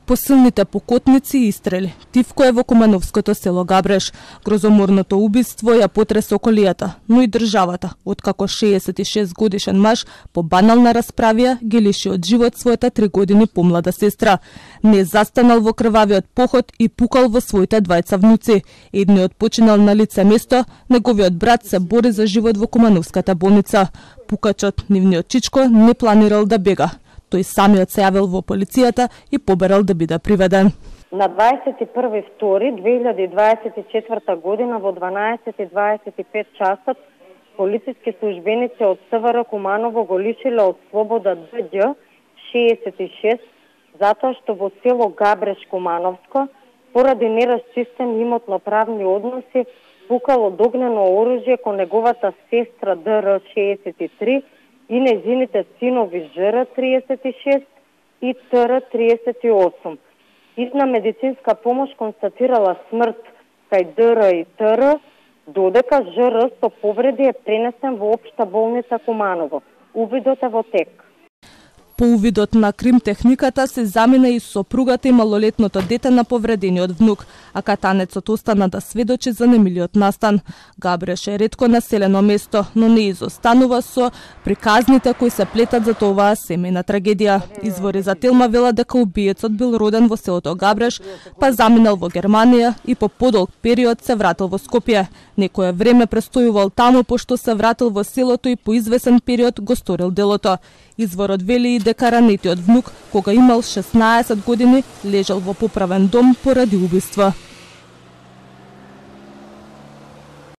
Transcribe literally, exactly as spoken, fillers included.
посилните покотници и истрели. Тивко е во Кумановското село Габреш. Грозоморното убиство ја потресе околијата, но и државата, откако шеесет и шест годишен маж по банална расправија ги лиши од живот својата три години помлада сестра. Не застанал во крвавиот поход и пукал во своите двајца внуци. Едниот починал на лице место, неговиот брат се бори за живот во Кумановската болница. Пукачот, нивниот чичко, не планирал да бега. Тој самиот се јавил во полицијата и поберал да биде приведен. На дваесет и први втори две илјади дваесет и четврта година во дванаесет и дваесет и пет часот полициски службеници од СВР Куманово го лишиле од слобода Дђ шеесет и шест затоа што во село Габреш Кумановско поради нерасчистен имотно-правни односи пукало огнено оружје кон неговата сестра ДР шеесет и три и нејзините синови ЖР триесет и шест и ТР триесет и осум. Итна медицинска помош констатирала смрт кај ДР и ТР, додека ЖР со повреди е пренесен во општа болница Куманово. Увидот е во тек. По увидот на кримтехниката се замина и сопругата и малолетното дете на повредениот внук, а катанецот остана да сведочи за немилиот настан. Габреш е ретко населено место, но не изостанува со приказните кои се плетат за оваа семејна трагедија. Извори за Телма велат дека убиецот бил роден во селото Габреш, па заминал во Германија и по подолг период се вратил во Скопје. Некое време престојувал таму, пошто се вратил во селото и по извесен период го сторил делото. Изворот вели и дека ранетиот внук, кога имал шеснаесет години, лежал во поправен дом поради убиство.